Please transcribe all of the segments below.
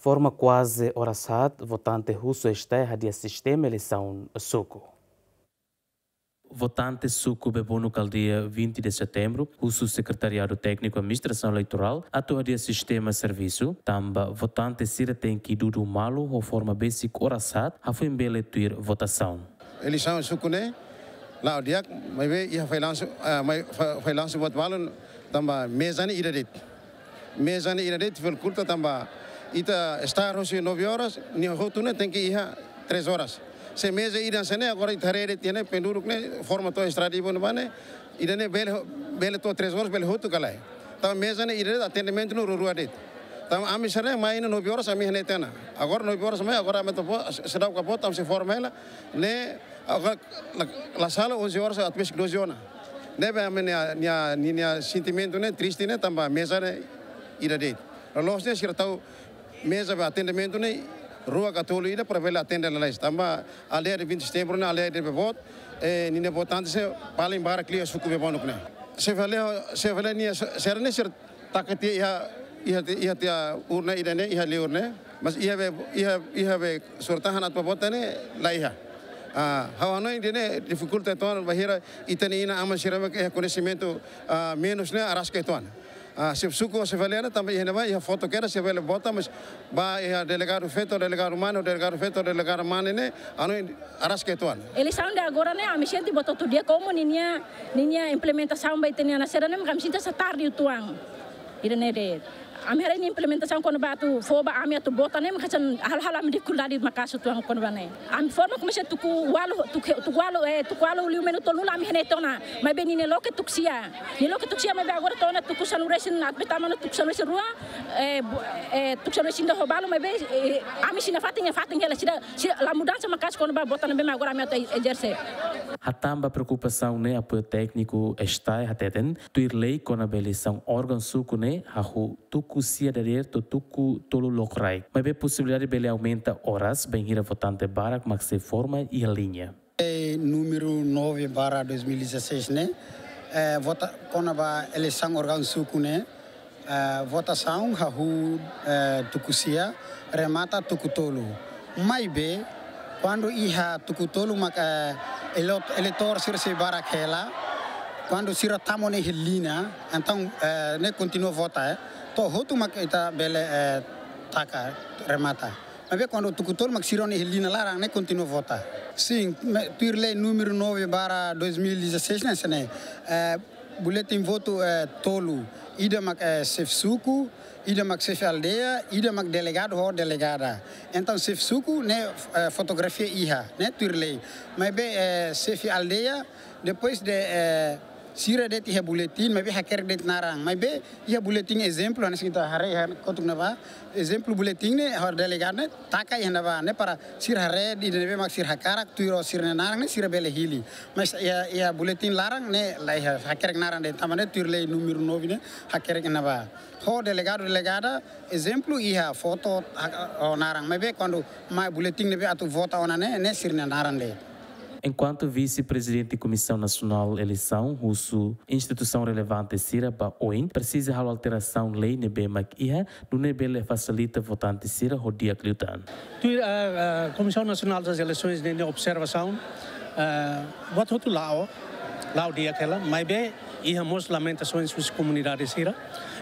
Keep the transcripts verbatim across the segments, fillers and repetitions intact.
Forma kuaze oras haat, votante husu STAE hadi'a sistema eleisaun suku. Votante suku Bebonuk aldeia vinte de Setembro husu Sekretariadu Tékniku Administrasaun Eleitorál atu hadi'a sistema servisu, tanba votante sira tenke dudu malu ho forma besik oras haat, hafoin bele tuir votasaun. Eleisaun suku ne'e la'o di'ak, maibé iha fallansu, ah, mai, fa-, fallansu buat balu tanba meza ne'e ida de'it. Meza ne'e ida de'it difikulta tanba ita start husi nove horas, nia hotu ne'e tenke iha três horas. Se meza ida hanesan ne'e, agora ita haree de'it iha ne'e, penduduk ne'e forma to'o estrada ibu ne'ebá ne'e, ida ne'e bele, bele to'o três horas, bele hotu ka lae. Tanba meza ne'e ida de'it, atendimentu ne'e rua-rua de'it. Tanba ami sira ne'e mai ne'e nove horas, ami iha ne'e tiha ona. Agora nove horas mai, agora ami atu vota, seidauk vota, ami sei forma hela. Ne'e, agora la, la sala onze horas, atu besik doze ona. Ne'ebé ami-nia, nia, nia, nia sentimentu ne'e triste ne'e, tanba meza ne'e ida de'it. Loloos ne'e sira tau meza ba atendimentu ne'e rua ka tolu ida para bele atende lalais. Tanba aldeia de vinte de Setembro ne'e aldeia de bebot, eh, ninia votante sira paling barak liu suku Bebonuk ne'e. Xefe aldeia, xefe aldeia nia se-, sira ne'e sira taka tiha iha, iha, iha tiha urna ida ne'e, iha liur ne'e. Mas iha be, iha, iha be surat-tahan atu vota ne'e la iha. Ah, ha'u hanoin ida ne'e difikulta uitoan bainhira ita-nia inan-aman sira mak iha koñesimentu, ah, menus ne'e araska uitoan. Ah, xefe suku, xefe aldeia ne'e tanba iha ne'ebá, iha foto kedas, xefe aldeia vota, mas ba iha delegadu feto, delegadu mane, delegadu feto, delegadu mane ne'e, ha'u hanoin araska uitoan. Eleisaun de agora ne'e, ami sente buat hotu di'ak, komu ninia, ninia implementasaun ba ita-nia nasaun sira ne'e, mak ami sente hanesan tarde uitoan. Ida ne'e de'it. Ami haree nia implementasaun kona-ba atu fó ba ami atu vota ne'e, mak hanesan halo, halo ami difikuldade maka'as uitoan kona-ba ne'e. Ami forma komesa tuku ualu, tuku, tuku ualu, eh, tuku ualu liu minutu tolu la ami iha ne'e tiha ona. Maibé ninia loke tuku sia. Nia loke tuku sia maibé agora to'o ona tuku sanulu-resin, atu be tama ona tuku sanulu-resin-rua, eh, bu-, eh, tuku sanulu-resin-ida ho balu maibé, eh, ami sira-nia fatin, nia fatin hela sira, sira la mudansa maka'as kona-ba vota ne'ebé mak agora ami atu e-, ezerse. Hatán ba preokupasaun ne'e apoiu tékniku STAE hateten, tuir lei kona-ba eleisaun órgaun suku ne'e hahú tuku sia dadeer to'o tuku tolu lokraik. Maibé posibilidade bele aumenta oras bainhira votante barak mak sei forma iha liña. Lei númeru nove barra dois mil e dezasseis ne'e, eh, vota kona-ba eleisaun órgaun suku ne'e, eh, votasaun hahú, eh, tuku sia, remata tuku tolu. Maibé, kuandu iha tuku tolu mak, eh, elo-, eleitór sira sei barak hela, kuandu sira tama ona iha liña, entaun, eh, ne'e kontinua vota, eh. To'o hotu mak ita bele, eh, taka, remata. Maibé kuandu tuku tolu mak sira ona iha liña laran ne'e kontinua vota. Sin, me-, tuir lei númeru nove barra dois mil e dezasseis ne'e hanesan ne'e. Eh, boletin votu, eh, tolu. Ida mak, eh, xefe suku, ida mak xefe aldeia, ida mak delegadu ho delegada. Entaun xefe suku ne'e, eh, fotografia iha, ne'e tuir lei. Maibé, eh, xefe aldeia, depois de, eh, sira de'it iha boletin, maibé hakerek de'it naran. Maibé iha boletin ezemplu, hanesan ita haree iha kotuk ne'ebá. Ezemplu boletin ne'e, ho delegadu ne'e, taka iha ne'ebá, ne'e para sira haree ida ne'ebé mak sira hakarak, tuir ho sira-nia naran ne'e, sira bele hili. Mas iha, iha boletin laran ne'e, la iha hakerek naran de'it, tanba ne'e tuir lei númeru nove ne'e, hakerek ne'ebá. Ho delegadu, delegada, ezemplu iha foto, ha-, ho naran. Maibé kuandu mai boletin ne'ebé atu vota ona ne'e, ne'e sira-nia naran de'it. Enkuantu Vise-Prezidente Komisaun Nasionál Eleisaun husu instituisaun relevante sira ba oin presiza halo alterasaun lei ne'ebé mak iha, nune'e bele fasilita votante sira ho di'ak liután. Tuir, eh, eh, Komisaun Nasionál das Eleições ninia observasaun, eh, buat hotu la'o, la'o di'ak hela, maibé iha mós lamentasaun husi komunidade sira.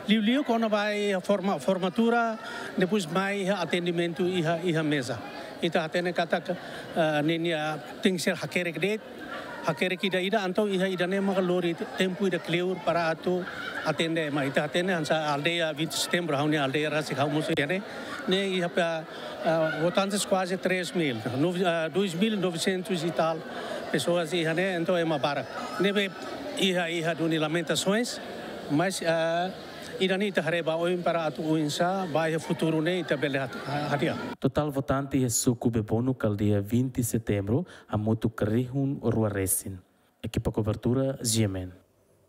Liuliu kona-ba iha forma-, formatura, depois mai iha atendimentu iha, iha meza. Ita hatene katak, eh, ninia tenke ser hakerek de'it, hakerek ida-ida, entaun iha ida-ne'e maka lori te-, tempu ida kleur para atu atende ema. Ita hatene hanesan aldeia vinte de Setembro, ha'u-nia aldeia rasik ha'u mosu iha ne'e, ne'e iha pa, ah, votantes kuaze três mil, nove-, ah, dois mil e novecentos e tal pessoas iha ne'e, entaun ema barak. Ne'ebé iha, iha duni lamentasaun, mas, ah, ida-ne'e ita haree ba oin para atu oinsá, ba iha futuru ne'e ita bele hat-, hadi'a. Totál votante iha suku Bebonuk aldeia vinte de Setembro hamutuk rihun rua resin. Ekipa kobertura, G M N.